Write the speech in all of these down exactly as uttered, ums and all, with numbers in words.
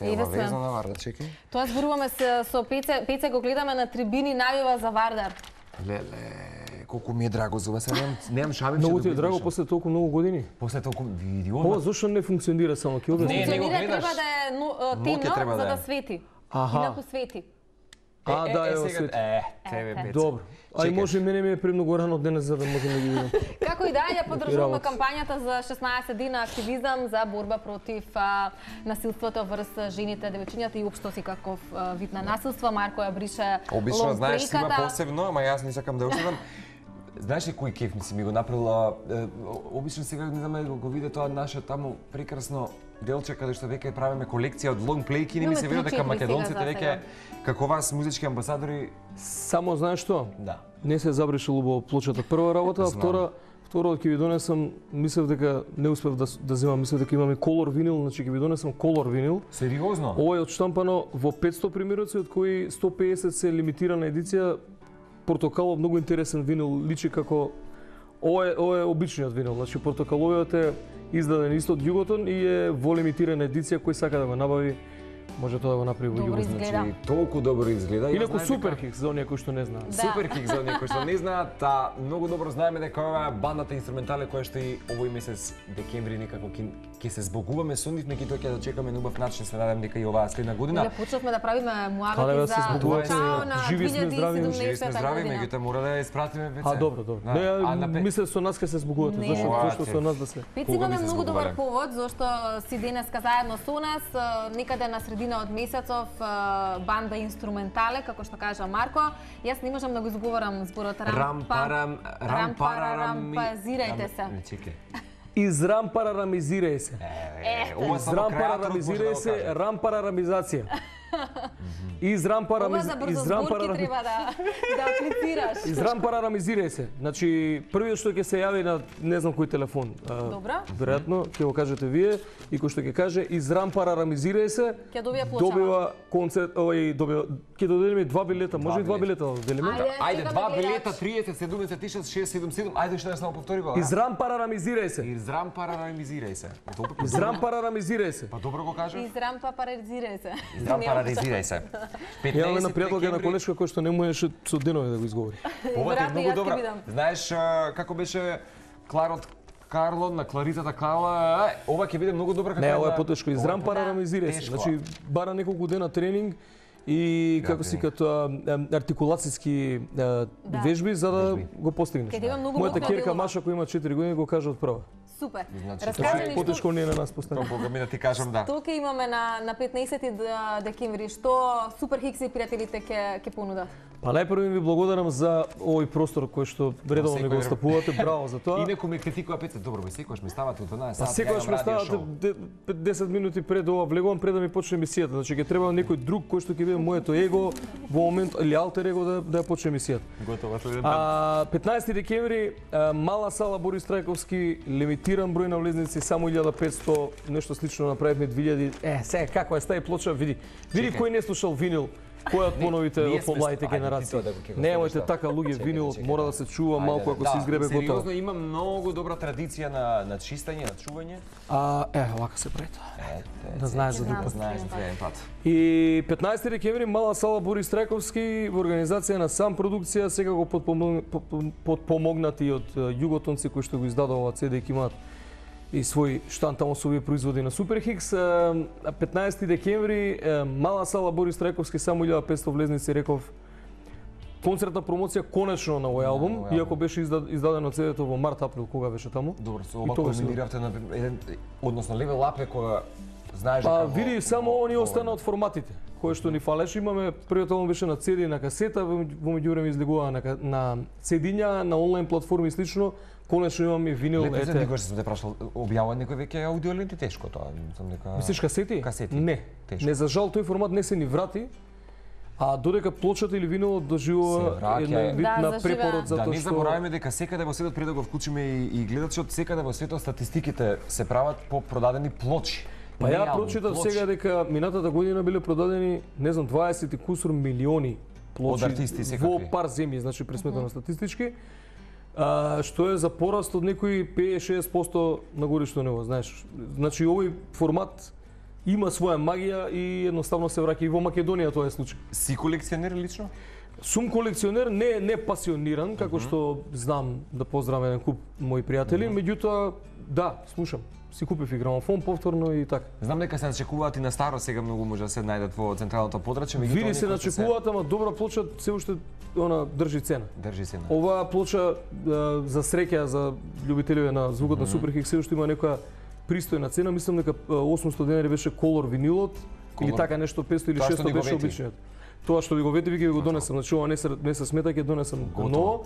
Се е везно на Вардар, чекај. Тоа зборуваме со, со Пеце, Пеце го гледаме на трибини, навива за Вардар. Леле, колку ми е драго за вас, немам немам шабив. Многу ти е драго после толку многу години. После толку види он. Ова зошто не функционира само ќе објасниш? Не, не го Функционира, гледаш. треба да е ну, темно треба за да да е. свети. Аха. Инаку свети. А, да, е, ево сега, свети. Е, тебе Пеце. Добро. А и Чекај. може мене ми е премногу рано денес за да можам да ги видам. Како и да ја поддржуваме работи. кампањата за шеснаесет дена активизам за борба против а, насилството врз жените, девојчињата и општо секаков а, вид на насилство. Марко ја брише Обично знаеш си има лонг-брейката. посебно, ама јас не сакам да оставам. Знаеш ли кој кеф ми си ми го направила? Е, обично сега не знам да го виде тоа наше таму прекрасно делче каде што веќе правиме колекција од лонг плейки, не ми Имаме се верува дека три-четири македонците сега за веќе како вас музички амбасадори, Само знаеш што? да. Не се забришил убаво плочата. Прва работа, а Знам. втора, втора ќе ви донесам, мислев дека не успев да да земам, мислев дека имаме колор винил, значи ќе ви донесам колор винил. Сериозно? Ова е одштампано во петсто примероци, од кои сто педесет се лимитирана едиција. Портокалов многу интересен винил, личи како ова е ова е обичниот винил, значи портокаловиот е издаден исто од Југотон и е во лимитирана едиција, кој сака да го набави може тоа да го направи во Добро Југотон. изгледа. Значи, толку добро изгледа. Јас Инаку знаев супер дека- хикс за оние кои што не знаат. Да. Супер хик за оние кои што не знаат, та многу добро знаеме дека ова е бандата инструментале која што и овој месец декември некако ќе ќе се збогуваме со нив, меѓутоа ќе да чекаме на убав начин, се надевам дека и оваа следна година. Иле почнавме да правиме Каде муабети да за се збогувате, чао на живи сме, здрави, две илјади и Живи сме седумнаесета здрави, година. меѓутоа мора да ја испратиме веќе. А, добро, добро. Да. Не, А, на пе- мислев со нас ќе се збогувате, Не. зашто Ова, зашто те. со нас да се. Пет Кога имаме би се многу добар збогувале? повод зашто си денеска заедно со нас, а, некаде на средина од месецов а, банда инструментале, како што кажа Марко. Јас не можам да го изговорам зборот Рам парам рам парарам. Рампазирајте се. Не чекај. Изрампарарамизирај се. Е, ова само креаторот може да Изрампарарамизирај го се, каже. рампарарамизација. Ова Изрампарамиз за брзозборки изрампарарам треба да да аплицираш. изрампарарамизирај се. Значи првиот што ќе се јави на не знам кој телефон. а, Добро. Веројатно ќе го кажете вие и кој што ќе каже изрампарарамизирај се. Ќе добија плочава. Добива концерт, овој добива ќе доделиме два билета, може и два билета да доделиме. Ајде. Ајде, Сега два ме гледач. билета, триесет, седумдесет, шест, шест, седум, седум. Ајде уште да само повтори го. Изрампарарамизирај се. Израм парарамизирај се. Добро, па Изрампарарамизирај се. Па добро го кажав. Изрампа парализирај се. Израм парализирај се. Ја на пријателка на декември. колешка кој што не можеше со денови да го изговори. Ова е Веројатно многу јас ќе добра. бидам. Знаеш а, како беше Кларот Карло на Кларитата Карла, е, ова ќе биде многу добра како Не, ова е една- потешко. ова е Изрампарарамизирај се. тешко. Значи бара неколку дена тренинг и како си като артикулацијски а, вежби за да Вежби. го постигнеш. Ќе да има многу Мојата мокра ќерка делова. Маша која има четири години го кажа од прва. Супер. Значи, Раскажи тоа ни е што Потешко не е на нас поставено. Тоа Бога ми да ти кажам да. што ќе имаме на на петнаесети декември, што Супер Хикс и пријателите ќе ќе понудат. Па најпрво ви благодарам за овој простор кој што редовно ми го секој- остапувате. Браво за тоа. И некој ме критикува Петре, добро, бе, секогаш ме ставате у дванаесет Па сати. секогаш ја ме имам радио ставате шоу. де- десет минути пред ова влегувам пред да ми почне емисијата. Значи ќе треба некој друг кој што ќе биде моето его во момент или алтер его да да ја почне емисијата. Готово следен пат. А, петнаесети декември, а, мала сала Борис Трајковски, лимитиран број на влезници, само илјада петсто, нешто слично направивме две илјади. Е, сега како е стаи плоча, види. Види Чекај. кој не слушал винил. Кој од поновите ние од сме помладите ста- ајде, ти генерации. тоа да го- ќе го Немојте ставиш така луѓе, Чекај, винилот чекај. мора да се чува Ајде, малку ако се изгребе готово. Сериозно има многу добра традиција на на чистење, на чување. А, е, вака се прави тоа. Ете, Да знаеш за Знам. друг пат. знаеш за следен пат. И петнаесети декември мала сала Борис Трајковски во организација на Сам продукција, сега го подпомог- подпом- подпомогнати од е, југотонци кои што го издадува ова це дека имаат и свој штанд таму со овие производи на Супер Хикс. Е, петнаесети декември е, мала сала Борис Трајковски, само илјада петсто влезници, реков. Концертна промоција конечно на овој албум, овој албум. иако беше изда- издадено цедето во март април, кога беше таму. Добро, со И ова тогаш комбиниравте на еден, односно Левел Up е која знаеш Па дека во- види, само во- они во- остана од форматите, кои што ни фалеше. Имаме првиот албум беше на цеди и на касета, во во меѓувреме излегува на ка- на цедиња, на онлайн платформи и слично. Конечно имаме винил, Лепо се ете. никош сум те прашал, објавува некој веќе аудиоленти тешко тоа, сум дека Мислиш касети? Касети. Не. Тешко. Не, за жал тој формат не се ни врати. А додека плочата или винилот Се доживува враќа, еден е. вид Да, на заживеа. препород Да затоа не што забораваме дека секаде во светот, пред да го вклучиме и, и гледачот, секаде во светот статистиките се прават по продадени плочи. Па Не ја албум, прочитав плочи. сега дека минатата година биле продадени, не знам, дваесет и кусур милиони плочи Од артисти во секакви. пар земји, значи пресметано статистички. А, што е за пораст од некои петдесет до шеесет проценти на годишно ниво, знаеш. Значи овој формат има своја магија и едноставно се враќа и во Македонија тоа е случај. Си колекционер лично? Сум колекционер, не не пасиониран, како што знам да поздравам еден куп мои пријатели, меѓутоа да, слушам. Си купив и грамофон повторно и така. Знам дека се начекуваат и на старо, сега многу може да се најдат во централното подрачје, меѓутоа Види се начекуваат, ама добра плоча се уште она држи цена. Држи цена. Оваа плоча за среќа за љубителите на звукот на Супер Хикс се уште има некоја пристојна цена, мислам дека осумсто денари беше колор винилот или така нешто петсто или шестсто беше обичниот. Тоа што ви го вети, ви го донесам, значи ова не се не се смета, ќе донесам ново.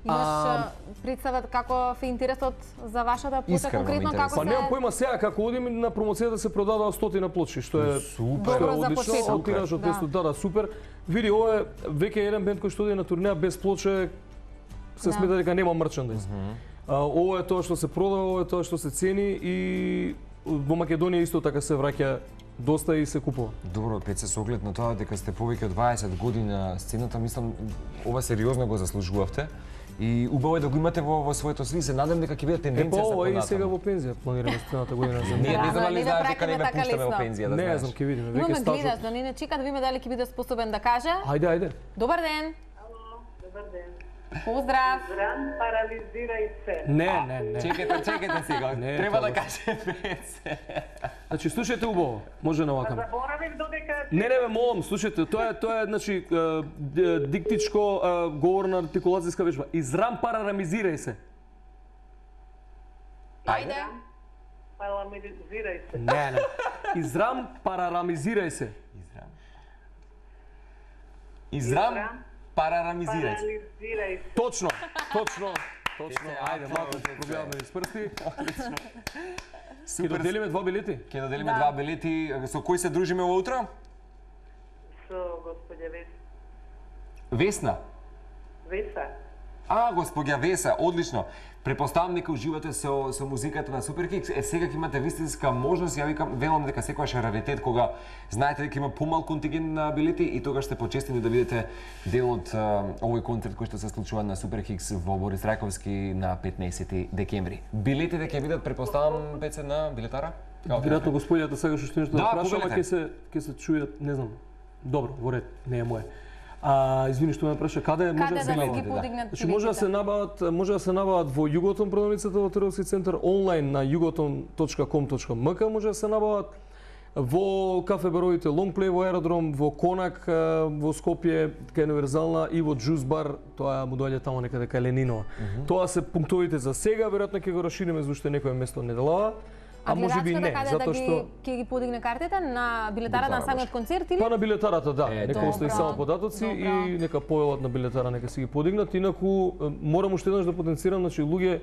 Имаш представа како фе интересот за вашата плоча конкретно како се? Па немам појма сега како одим на промоцијата се продадаа стотина плочи, што е супер, добро за одлично, почеток. од тираж од петсто, да, да, супер. Види, ова е веќе еден бенд кој што оди на турнеја без плоче се смета дека нема мерчендиз. Ова е тоа што се продава, ова е тоа што се цени и во Македонија исто така се враќа доста и се купува. Добро, Пеце, со оглед на тоа дека сте повеќе од дваесет години на сцената, мислам ова сериозно го заслужувавте. И убаво е да го имате во, во своето сли, се надам дека ќе биде тенденција за понатаму. Е, па ова и сега понатаму. во пензија планираме следната година за Ние не знам Да, дали ние да знаеш дека не праќаме ме така пуштаме во лесно. пензија, да Не, знаеш. знам, ќе видиме, Но веќе ме стажот. гледаш, но не не чека да видиме дали ќе биде способен да каже. Ајде, ајде. Добар ден. Ало, добар ден. Поздрав. Зран, парализирај се. Не, не, не. Чекайте, чекайте сега. Не, Треба тоа да каже Пеце. Значи слушајте убаво, може на вакам. Заборавив додека... Не, не, ме молам, слушајте, тоа е тоа е значи е, д- диктичко е, говорна артикулацијска вежба. Израм парарамизирај се. Ајде. Парализирај се. Не, не. Израм парарамизирај се. Израм. Израм, парарамизирај се. Парализирај се. Точно, точно, точно. Ете, Ајде, аплауз, малку ете. пробиваме низ прсти. Ќе Супер. доделиме два билети. Ќе доделиме Да. два билети. Со кој се дружиме во утро? Со господја Вес... Весна. Веса. А, господја Веса, одлично. Препоставам дека уживате со со музиката на Супер Хикс. Е сега ќе имате вистинска можност, ја викам, велам дека секогаш е раритет кога знаете дека има помал контингент на билети и тогаш сте почестени да видите дел од а, овој концерт кој што се случува на Супер Хикс во Борис Рајковски на петнаесети декември. Билетите ќе бидат препоставам Пеце на билетара? Веројатно господјата сакаш уште нешто да Да, прашам, а повелете. ќе се ќе се чујат, не знам. Добро, во ред, не е моје. А, извини што ме праша, каде може Каде да се да набават? ги да. подигнат Значи може да се набават, може да се набават во Југотон продавницата во Трговски центар, онлайн на југотон точка ком точка ем ка може да се набават во кафе баровите Лонгплей во Аеродром, во Конак во Скопје, кај Универзална и во Джус бар, тоа му доаѓа таму некаде кај Ленинова. Тоа се пунктовите за сега, веројатно ќе го расшириме за уште некое место неделава. А може би не, каде затоа да ги, што ќе ги подигне картите на билетарата на Билетара, самиот концерт или? па на билетарата, да, Е, нека добро. остави само податоци Добро. и нека појават на билетара, нека си ги подигнат. Инаку е, морам уште еднаш да потенцирам, значи луѓе,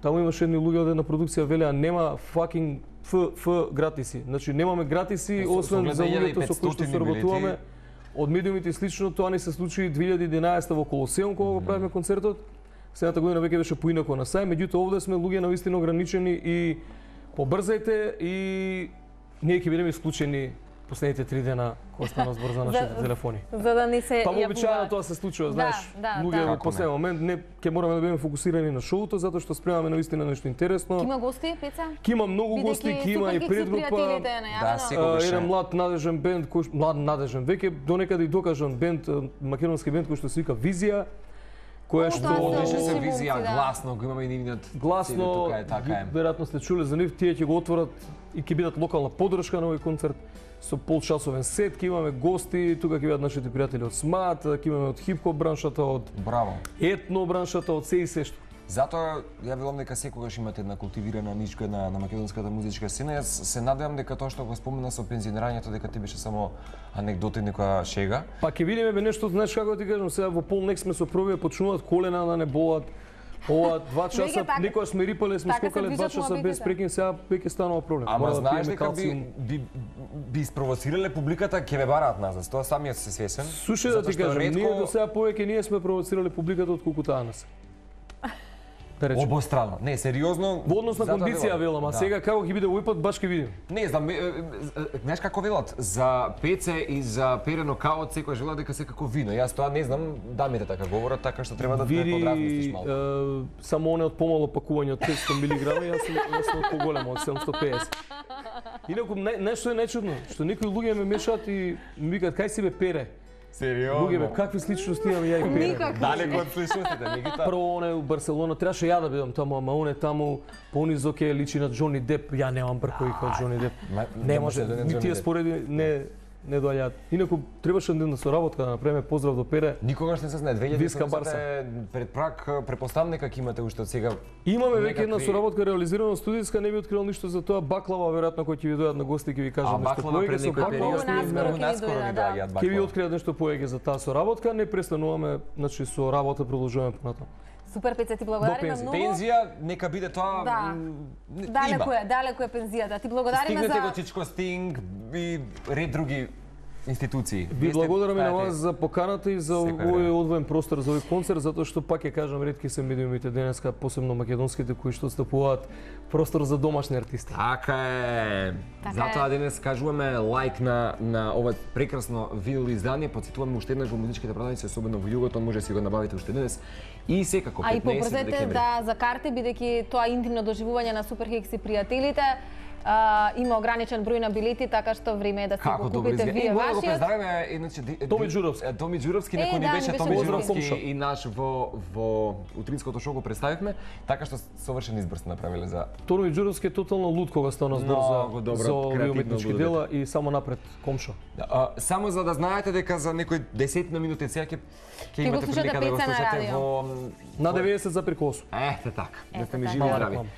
таму имаше едни луѓе од една продукција велеа нема fucking ф ф гратиси. Значи немаме гратиси Со- со освен оглед за на луѓето со кои што илјада и се работуваме. билети. Од медиумите и слично, тоа ни се случи две илјади и единаесетта во Колосеум кога го правиме концертот. Следната година веќе беше поинако на сај, меѓутоа овде сме луѓе навистина ограничени и побрзајте и ние ќе бидеме исклучени последните три дена кога стана збор за нашите За- телефони. За да не се Па вообичаено јавуваат. тоа се случува, Да, знаеш. да, луѓе да. во Како последен не? момент не ќе мораме да бидеме фокусирани на шоуто затоа што спремаме навистина нешто интересно. Ќе има гости, Пеца? Ќе има многу гости, ќе има и предгрупа. пријателите е Да, најавено. сигурно. А, беше. еден млад надежен бенд кој млад надежен веќе донекаде и докажан бенд, а, македонски бенд кој што се вика Визија, која О, што тоа се Одлично се Си визија, момци, да. гласно, го имаме и нивниот гласно, тука е, така е. веројатно сте чуле за нив, тие ќе го отворат и ќе бидат локална поддршка на овој концерт со полчасовен сет, ќе имаме гости, тука ќе бидат нашите пријатели од СМАТ, ќе имаме од хип-хоп браншата, од Браво. етно браншата, од се и се што. Затоа ја велам дека секогаш имате една култивирана нишка на, на македонската музичка сцена. Јас се надевам дека тоа што го спомена со пензионирањето дека ти беше само анегдота и некоја шега. Па ќе видиме бе нешто, знаеш како да ти кажам, сега во полнек сме со првија почнуваат колена да не болат. Ова два часа, Веќе така- некоја сме рипале, сме така се скокале два движат часа без муабетите. прекин, сега веќе станува проблем. Ама Мора да знаеш пиеме дека би, калциум. би, би испровоцирале публиката, ќе ве бараат назад. Тоа самиот се свесен. Слушај да Затоа ти што кажам, ретко- ние до сега повеќе ние сме провоцирале публиката од колку таа нас. да речем. Обострано. Не, сериозно. Во однос на затоа кондиција велам. велам, а Да. сега како ќе биде овој пат баш ќе видим. Не знам, е, е, е, знаеш како велат, за пеце и за перено као секој велат дека секако вино. Јас тоа не знам, дамите така говорат, така што треба да те Види, подразмислиш малку. е, само оне од помало пакување од петсто милиграми, јас сум јас сум од поголемо од седумсто и педесет. Инаку не, нешто е нечудно, што некои луѓе ме мешаат и ми викаат кај си бе Пере? Сериозно. Луѓе бе, какви сличности имам ја и Пере? Никакви. Далеко од сличностите, Никита. Прво оне у Барселона требаше ја да бидам таму, ама оне таму понизо ке личи на Џони Деп, ја немам бркови како Џони Деп. Ма, Не не може, може да не ни Џони тие Деп. спореди не не доаѓаат. Инаку требаше ден да соработка да направиме поздрав до Пере. Никогаш не се знае, две илјади Виска седумдесет Барса. е пред прак, предпоставам дека ќе имате уште од сега. Имаме веќе Некакви- една соработка реализирана студијска, не би открил ништо за тоа. Баклава веројатно кој ќе ви дојдат на гости ќе ви А кажат нешто баклава пред повеќе со некој баклава. период наскоро ни- ќе ни наскоро дојде, ни да. доаѓаат Ќе ви баклава. откријат нешто повеќе за таа соработка, не престануваме, значи со работа продолжуваме понатаму. Супер Пеце, ти До благодариме пензија. многу. Пензија, нека биде тоа. Да. м, н- Далеко има. е, далеко е пензијата. Ти благодариме Стигнете го за Чичко Стинг и ред други институции. Ви благодараме на знаете, вас за поканата и за секој овој време. одвоен простор за овој концерт, затоа што пак ќе кажам, ретки се медиумите денеска, посебно македонските кои што стапуваат простор за домашни артисти. Така е. Така Затоа е. денес кажуваме лайк на на ова прекрасно видео издание. Потсетуваме уште еднаш во музичките продавници, особено во југото, може да си го набавите уште денес. И секако А и петнаесет побрзете декември. да за карти, бидејќи тоа интимно доживување на Суперхикс и пријателите, а, има ограничен број на билети, така што време е да си Како го добро купите изгледа. вие И мора да го вашиот. поздравиме иначе Ди- Томи Ди- Ѓуровски. е, Томи Ѓуровски, Е, некој ни да, беше ни беше Томи поздрав, Ѓуровски комшо. и наш во во утринското шоу го представивме, така што совршен избор сте направиле за Томи Ѓуровски е тотално луд кога стана збор Многу за добро, за овие креативно уметнички лудо дела и само напред комшо. А, само за да знаете дека за некои десетина минути сега ќе ќе го имате слушате прилика да го Пеца на слушате радио. во На деветдесет за прикосу. Ете така, да Ете сте ми така. живи и Мала здрави. реклама.